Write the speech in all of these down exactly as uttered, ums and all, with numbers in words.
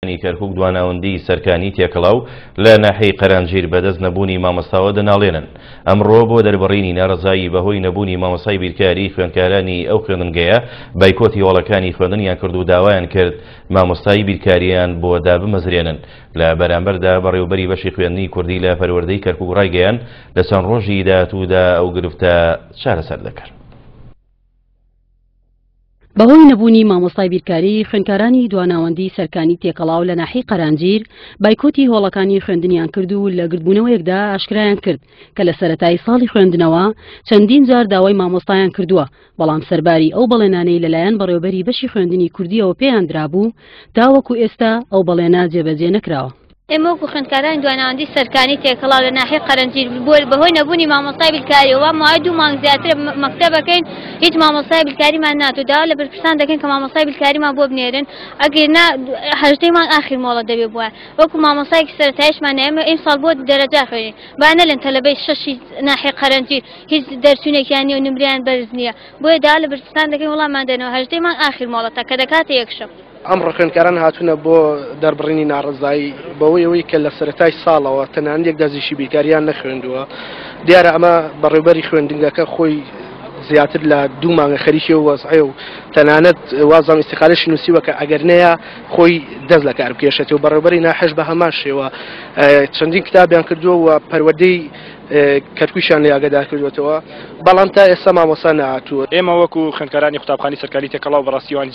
کەرکوک دواناوەندی سەرکانی تێکەڵاو لە ناحیەی قەرانجیر بەدەست نەبوونی مامۆستاوە دەناڵێنن. ئەمڕۆ بۆ دەربڕینی ناڕەزایی بەهۆی نەبوونی مامۆستای بیرکاری خوێندکارانی ئەو خوێندنگەیە بایکۆتی هۆڵەکانی خوێندنیان کرد و داوایان کرد مامۆستای بیرکاریان بۆ دابمەزرێنن. لە بەرامبەردا بەڕێوبەری بەشی خوێندنی کوردی لە پەروەردەی کەرکوک ڕایگەیاند لە چەند ڕۆژی داهاتوودا ئەو گرفتە چارەسەر دەکەن. بەهۆی نەبوونی مامۆستای بیرکاری خوێندکارانی دواناوەندی سەرکانی تێکەڵاو لە ناحیەی قەرانجیر بایکۆتی هۆڵەکانی خوێندنیان کرد و لە گردبوونەوەیەکدا ئاشکرایان کرد کە لە سەرەتای ساڵی خوێندنەوە چەندین جار داوای مامۆستایان کردووە، بەڵام سەرباری ئەو بەڵێنانەی لەلایەن بەڕێوبەری بەشی خوێندنی کوردیەوە پێیان درابوو تاوەکو ئێستا ئەو بەڵێنە جێبەجێ نەکراوە. ئێمە وەکو خوێندکارانی دواناوەندی سەرکانی تێکەڵاو لە ناحیەی قەرەنجیر بەهۆی نەبوونی مامۆستای بیرکاریەوە ماوەی دوو مانگ زیاتر مەکتەبەکەین هیچ مامۆستای بیرکاریمان ناتوو. داوا لە بەرپرسان دەکەین کە مامۆستای بیرکاریمان بۆ بنێرن، ئەگەر نا هەژدەی مانگ ئاخیر مۆڵە دەبێ بووە. وەکو مامۆستایەکی سەرەتاییشمان ئێمە ئیمساڵ بۆ دەرەجا خوێنین، با نەلێن تەلەبەی شەشی ناحیەی قەرەنجیر هیچ دەرچوونێکیان نییە و نمرەیان بەرز نییە. بۆیە داوا لە بەرپرسان دەکەین وەڵامان دەنەوە هەژدەی مانگ ئاخیر مۆڵەتە کە دەکاتە یەکشەم. ئەمڕۆ خوێندکاران هاتوونە بۆ دەربڕینی ناڕەزایی بەوەی ئەوەی کە لە سەرەتای ساڵەوە تەنانەت یەک دەرزیشی بیرکاریان نەخوێندووە. دیارە ئەمە بەڕێوبەری خوێندنگەکە خۆی زیاتر لە دوو مانگە خەریکی و وەزعێ و تەنانەت وازام ئیستیقالەشی نووسیوە کە ئەگەر نەیە خۆی دەست لە کار بکێشێتەوە. بەڕێوبەری ناحیەش بە هەمان شێوە چەندین کتابیان کردووە و پەروەردەی کەرکوکیان لێ ئاگادار کردوێتەوە، بەڵام تا ئێستا مامۆستا نەهاتووە. ئێمە وەکو خوێندکارانی قوتابخانەی سەرکاری تێکەڵاو بەڕاستی وان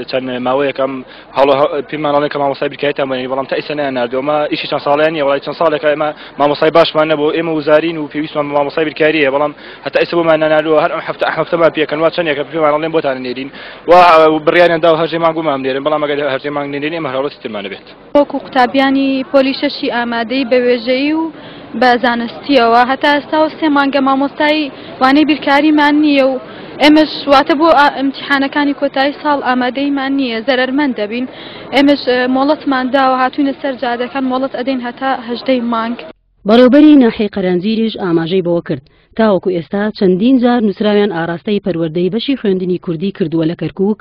چەند ماوەیەکەم هەڵۆ پێمان ئەڵێن کە مامۆستای بیرکاریتان بنێرین، بەڵام تا ئێستا نەیانناردووە. ئەمە ئیشی چەند ساڵیان نییە، وەڵای چەند ساڵێکە ئێمە مامۆستای باشمان نەبوو. ئێمە وزارین و پێویستمان بە مامۆستای بیرکاریە، بەڵام هەتا ئێستا بۆمان ناناردووە. هەر ئەم هەفتە هەفتەمان پێکەن وا چەندێکە پێمان ئەڵێن بۆتان نێرین و بڕیاریان داوە هەژدەی مانگ بۆمان بنێرن، بەڵام ئەگەر هەژدەی مانگ نێرین ئێمە هەر ترمان نەبێت. وەکو قوتابیانی پۆلی شەشی ئامادەی بە وێژەیی و بە زانستیەوە هەتا ئێستا و سێ مانگە مامۆستای وانەی بیرکاریمان نییە و ئێمەش واتە بۆ ئیمتیحانەکانی کۆتایی ساڵ ئامادەیمان نییە، زەرەرمەند دەبین. ئێمەش مۆڵەتمان داوە، هاتوینە سەر جادەکان مۆڵەت ئەدەین هەتا هەژدەی مانگ. بەڕێوبەری ناحیەی قەرەنجیریش ئاماژەی بەوە کرد تاوەکو ئێستا چەندین جار نووسراویان ئاراستەی پەروەردەی بەشی خوێندنی کوردی کردووە لە کەرکوک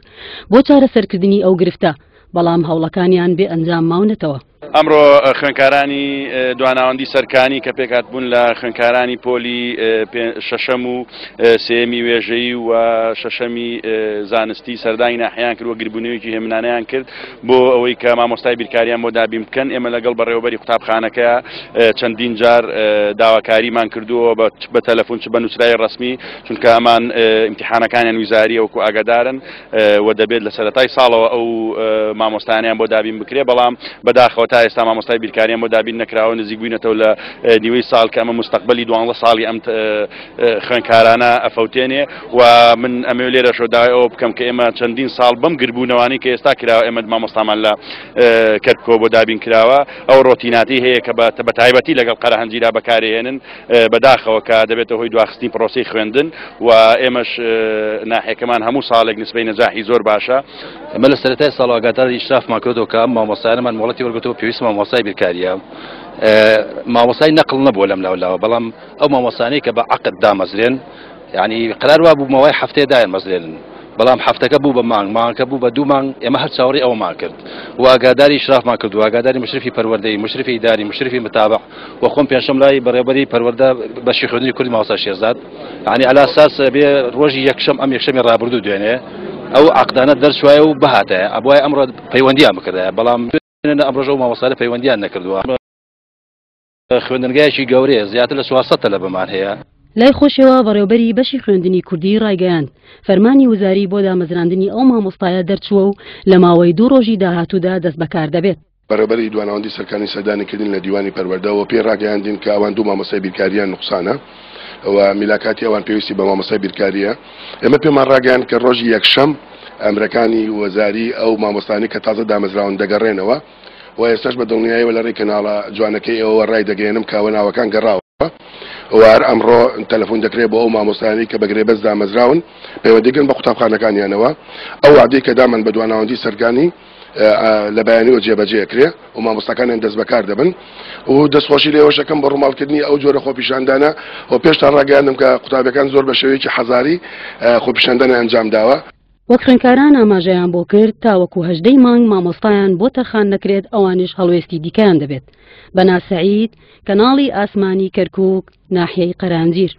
بۆ چارەسەرکردنی ئەو گرفتە، بەڵام هەوڵەکانیان بێ ئەنجام ماونەتەوە. ئەمڕۆ خوێندکارانی دواناوەندی سەرکانی کە پێکهات بوون لە خوێندکارانی پۆلی شەشەم و سێمی وێژەیی و شەشەمی زانستی سەردانی ناحیان کرد و گربوونەوەیەکی هێمنانیان کرد بۆ ئەوەی کە مامۆستای بیرکاریان بۆ دابین بکەن. ئێمە لەگەڵ بەڕێوەبەری قوتابخانەکە چەندین جار داواکاریمان کردووە بە تەلەفۆن چ بە نووسراوی ڕەسمی، چونکە ئەمان ئیمتیحانەکانیان ویزاریە وەکو ئاگادارن و دەبێت لە سەرەتای ساڵەوە ئەو مامۆستایانیان بۆ دابین بکرێ، بەڵام بەداخەوە تا ئێستا مامۆستای بیرکاریان بۆ دابین نەکراوە. نزیک بووینەتەوە لە نیوەی ساڵ کە ئەمە مستەقبلی دوانزە ساڵی ئەم خوێندکارانە ئەفەوتێنێ و من ئەمەوێ لێرەشەوە داوای ئەوە بکەم کە ئێمە چەندین ساڵ بەم گربوونەوانەی کە ئێستا کراوە ئێمە مامۆستامان لە کەرکوکەوە بۆ دابین کراوە، ئەو ڕۆتیناتی هەیە کە بە تایبەتی لەگەڵ قەرەهەنجیرا بەکارهێنن، بەداخەوە کە دەبێتە هۆی دواخستنی پرۆسەی خوێندن و ئێمەش ناحیەکەمان هەموو ساڵێک نسبەی نەجاحی زۆر باشە. ئێمە لە سەرەتای ساڵ ئاگاداری ئیشرافمان کردەوە کە مامۆستایانمان مۆڵەتی وەرگرتەوە پێویست مامۆستای بیرکاریە. مامۆستای نەقل نەبووە لەم لاولاوە، بەڵام ئەو مامۆستانەی کە بە عەقد دامەزرێن، یعنی قرار وا بوو ماوەی هەفتەیە دایان مەزرێنن، بەڵام هەفتەکە بوو بە مانگ، مانگەکە بوو بە دوو مانگ. ئێمە هەر چاوەڕێی ئەوەمان کرد و ئاگاداری ئیشرافمان کرد و ئاگاداری مشرفی پەروەردەی، مشرفی ئیداری، مشرفی متابع و خۆم پێنجشەم لای بەڕێوەبەری پەروەردە بەشی خوێندنی کوردی مامۆستا شێرزاد، یعنی عەلا ئەساس بێ ڕۆژی یەکشەم ئەم یەکشەمی ڕابردوو دوێنێ ئەو عەقدانە دەرچوایە و بهاتایە، ئەبوایە ئەمڕۆ پەیوەندیان بکردایە، بەڵام ئەمڕۆژ ئەو مامۆستایانە پەیوەندیان نەکردووە. خوێندنگایەکی گەورەیە، زیاتر لە چوارسەد تەلەبەمان هەیە. لای خۆشەوە بەڕێوبەری بەشی خوێندنی کوردی ڕایگەیاند فەرمانی وزاری بۆ دامەزراندنی ئەو مامۆستایە دەرچووە و لە ماوەی دوو ڕۆژی داهاتوودا دەست بەکار دەبێت. بەڕێوبەری دواناوەندی سەرکانی سەردانی کردن لە دیوانی پەروەردەوە پێی ڕاگەیاندین کە ئەوان دوو مامۆستای بیرکاریان نوقسانە و میلاکاتی ئەوان پێویستی بە مامۆستای بیرکاریە. ئێمە پێمان ڕاگەیاند کە ڕۆژی یەکشەم ئەمرەکانی وەزاری ئەو مامۆستانی کە تازە دامەزراون دەگەڕێنەوە و ئێستاش بە دڵنیاییەوە لە ڕێی کەناڵە جوانەکەی ئێوەوە ڕای دەگەیەنم کە ئەوە ناوەکان گەڕاوە و هەر ئەمڕۆ تەلەفۆن دەکرێت بۆ ئەو مامۆستایانەی کە بە گرێبەست دامەزراون پەیوەندیکردن بە قوتابخانەکانیانەوە. ئەو وعدەی کە دامان بە دواناوەندی سەرکانی لە بەیانیەوە جێبەجێ کرێ و مامۆستاکانیان دەست بەکار دەبن و دەستخۆشی لێوەشەکەم بە ڕووماڵکردنی ئەو جۆرە خۆپیشاندانە و پێشتان ڕاگەیاندم کە قوتابیەکان زۆر بە شێوەیەکی حەزاری خۆپیشاندانیان ئەنجام داوە. وەک خوێندکاران ئاماژەیان بۆ کرد، تاوەکو هەژدەی مانگ مامۆستایان بۆ تەرخان نەکرێت ئەوانیش هەڵوێستی دیکەیان دەبێت. بەنا سەعید، کەناڵی ئاسمانی کەرکووک، ناحیەی قەرانجیر.